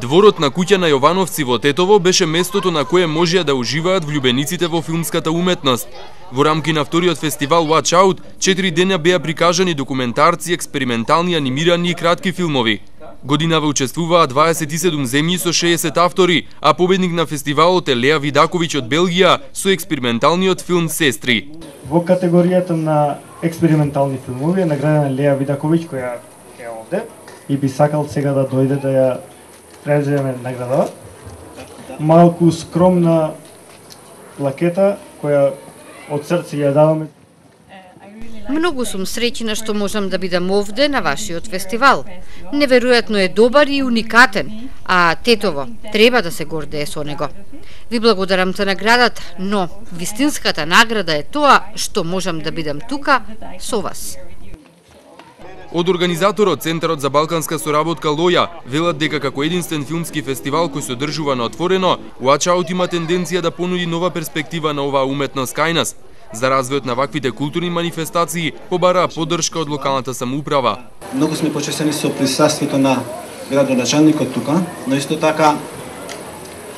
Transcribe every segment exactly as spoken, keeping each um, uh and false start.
Дворот на куќа на Јовановци во Тетово беше местото на кое можеа да уживаат влюбениците во филмската уметност. Во рамки на вториот фестивал Watch Out, четири дења беа прикажани документарци, експериментални анимирани и кратки филмови. Годинава учествуваа дваесет и седум земји со шеесет автори, а победник на фестивалот е Леа Видаковиќ од Белгија со експерименталниот филм Сестри. Во категоријата на експериментални филмови е наградена Леа Видаковиќ, која е овде и би сакал сега да дојде да ја преземе награда. Малку скромна плакета која од срце ја даваме. Многу сум среќна што можам да бидам овде на вашиот фестивал. Неверојатно е добар и уникатен, а Тетово треба да се гордее со него. Ви благодарам за наградата, но вистинската награда е тоа што можам да бидам тука со вас. Од организаторот Центарот за балканска соработка Лоја велат дека како единствен филмски фестивал кој се одржува на отворено, Watch Out има тенденција да понуди нова перспектива на оваа уметност кај нас. За развојот на ваквите културни манифестации побараа поддршка од локалната самоуправа. Многу сме почестени со присуствието на градоначалникот тука, но исто така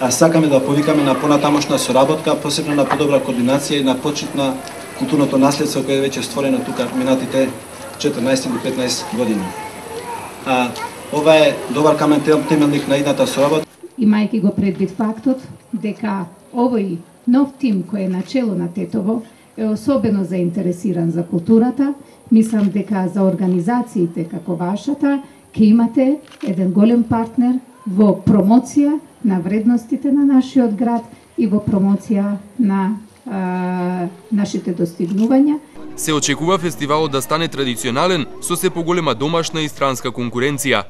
а сакаме да повикаме на понатамошна соработка, посебно на подобра координација и на почит на културното наследство кое е веќе створено тука минатите четрнаесет или петнаесет години. А ова е добар камен темелник на идната соработка. Имајќи го предвид фактот дека овој нов тим кој е начело на Тетово е особено заинтересиран за културата, мислам дека за организациите како вашата ќе имате еден голем партнер во промоција на вредностите на нашиот град и во промоција на а, нашите достигнувања. Се очекува фестивалот да стане традиционален со се поголема домашна и странска конкуренција.